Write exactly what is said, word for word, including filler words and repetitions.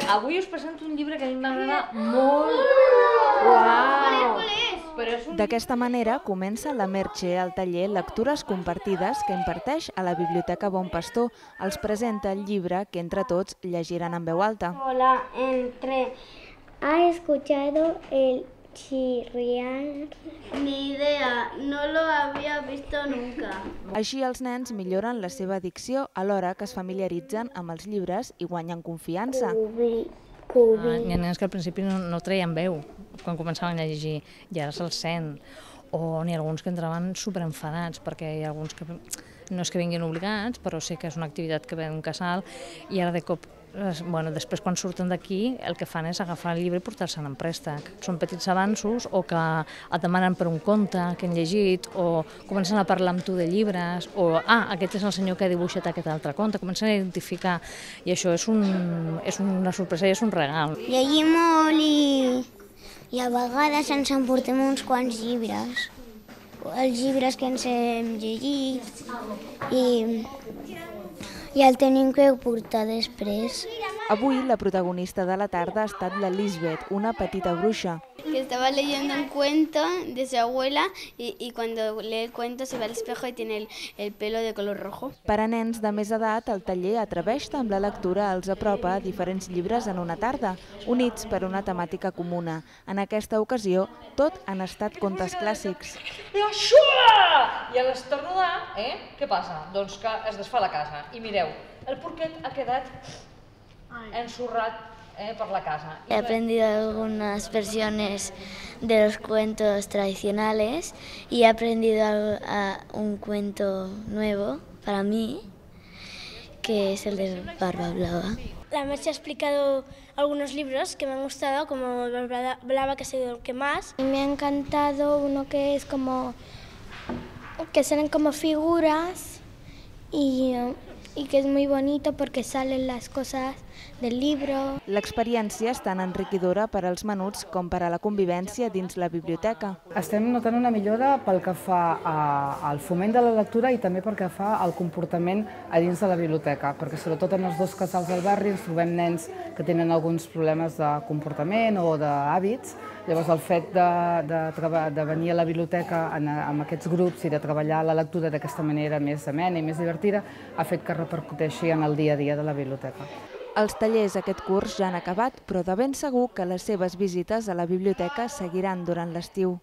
Avui us presento un llibre que a mi m'agrada molt. Uau! D'aquesta manera comença la Merche al taller Lectures Compartides que imparteix a la Biblioteca Bon Pastor. Els presenta el llibre que entre tots llegiran en veu alta. Hola, entre... ¿Ha escuchado el chirriar? Ni idea, no lo había visto nunca. Així els nens milloren la seva dicció alhora que es familiaritzen amb els llibres i guanyen confiança. Cubi, Ah, cubi. Hi ha nens que al principi no, no treien veu quan començaven a llegir i ara se'ls sent. O n'hi ha alguns que entraven superenfadats perquè hi ha alguns que no és que vinguin obligats, però sí que és una activitat que ve d'un casal i ara de cop, bueno, després quan surten d'aquí el que fan és agafar el llibre i portar-se'n en préstec. Són petits avanços o que et demanen per un conte que han llegit o comencen a parlar amb tu de llibres o ah, aquest és el senyor que ha dibuixat aquest altre conte, comencen a identificar i això és, un, és una sorpresa i és un regal. Llegim molt i, i a vegades ens emportem uns quants llibres. Els llibres que ens hem llegit i, i el tenim que portar després. Avui la protagonista de la tarda ha estat la Lisbeth, una petita bruixa. Que estaba leyendo un cuento de su abuela y, y cuando lee el cuento se ve al espejo y tiene el, el pelo de color rojo. Per a nens de més edat, el taller Atreveix-te amb la lectura els apropa a diferents llibres en una tarda, units per una temàtica comuna. En aquesta ocasió, tot han estat contes clàssics. I això! I a l'esternudar, eh? Què passa? Doncs que es desfà la casa. I mireu, el porquet ha quedat ensorrat eh, per la casa. He aprendido algunas versiones de los cuentos tradicionales y he aprendido a, a un cuento nuevo para mí, que es el de Barba Blava. La Merche ha explicado algunos libros que me han gustado, como Barba Blava, que ha sido el que más. Me ha encantado uno que es como, que salen como figuras y, y que es muy bonito porque salen las cosas del libro. L'experiència és tan enriquidora per als menuts com per a la convivència dins la biblioteca. Estem notant una millora pel que fa a, al foment de la lectura i també pel que fa al comportament a dins de la biblioteca, perquè sobretot en els dos casals del barri ens trobem nens que tenen alguns problemes de comportament o d'hàbits. Llavors el fet de, de, de venir a la biblioteca en, amb aquests grups i de treballar la lectura d'aquesta manera més amena i més divertida ha fet que repercuteixi en el dia a dia de la biblioteca. Els tallers aquest curs ja han acabat, però de ben segur que les seves visites a la biblioteca seguiran durant l'estiu.